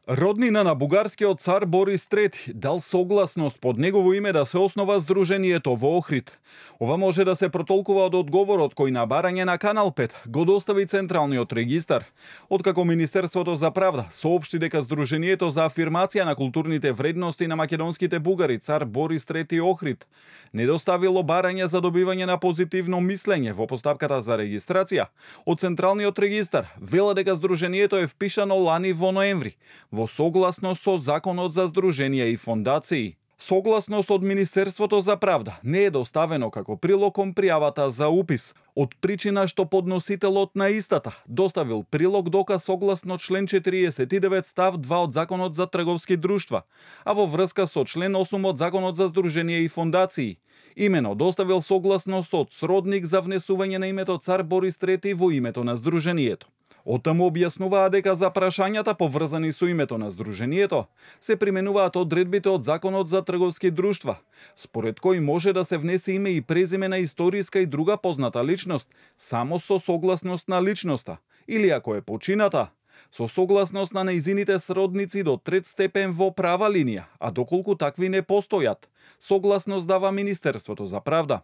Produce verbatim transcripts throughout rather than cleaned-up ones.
Роднина на бугарскиот цар Борис трети дал согласност под негово име да се основа Здруженијето во Охрид. Ова може да се протолкува од одговорот кој на барање на Канал пет го достави Централниот регистар. Откако Министерството за правда соопшти дека Здруженијето за афирмација на културните вредности на македонските бугари цар Борис трети Охрид не доставило барање за добивање на позитивно мислење во постапката за регистрација, од Централниот регистар вела дека Здруженијето е впишано лани во ноември во согласност со Законот за здруженија и фондации. Согласност од Министерството за правда не е доставено како прилог кон пријавата за упис, од причина што подносителот на истата доставил прилог доказ согласно член четириесет и девет став два од Законот за трговски друштва, а во врска со член осум од Законот за здруженија и фондации. Имено доставил согласност од сродник за внесување на името цар Борис трети во името на Здруженијето. Оттаму објаснуваа дека за прашањата поврзани со името на Здруженијето се применуваат одредбите од Законот за трговски друштва, според кој може да се внесе име и презиме на историска и друга позната личност само со согласност на личноста, или ако е почината, со согласност на нејзините сродници до трет степен во права линија, а доколку такви не постојат, согласност дава Министерството за правда.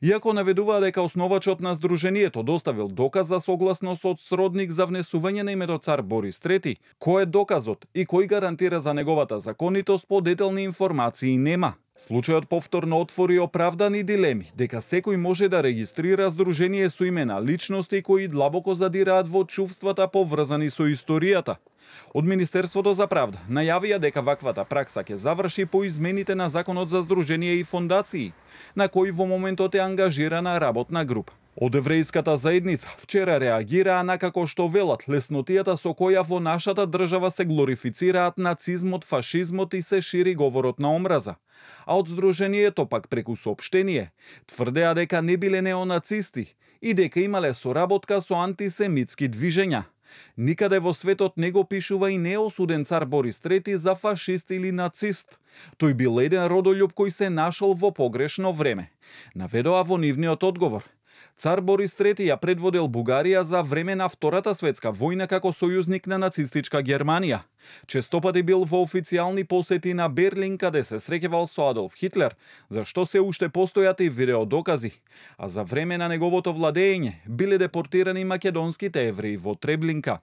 Иако наведуваа дека основачот на Здруженијето доставил доказ за согласност од сродник за внесување на името цар Борис трети, кој е доказот и кој гарантира за неговата законитост, подетелни информации нема. Случајот повторно отвори оправдани дилеми дека секој може да регистрира здружение со име на личности кои длабоко задираат во чувствата поврзани со историјата. Од Министерството за правда најавија дека ваквата пракса ќе заврши по измените на Законот за здруженија и фондации, на кој во моментот е ангажирана работна група. Од еврејската заедница вчера реагираа на како што велат леснотијата со која во нашата држава се глорифицираат нацизмот, фашизмот и се шири говорот на омраза. А од Здруженијето пак преку соопштение тврдеа дека не биле неонацисти и дека имале соработка со антисемитски движења. Никаде во светот не го пишува и не е осуден цар Борис трети за фашист или нацист. Тој бил еден родолюб кој се нашол во погрешно време, наведоа во нивниот одговор. Цар Борис трети ја предводел Бугарија за време на Втората светска војна како сојузник на нацистичка Германија. Честопати бил во официјални посети на Берлин, каде се среќавал со Адолф Хитлер, за што се уште постојат и видеодокази. А за време на неговото владење биле депортирани македонските евреи во Треблинка.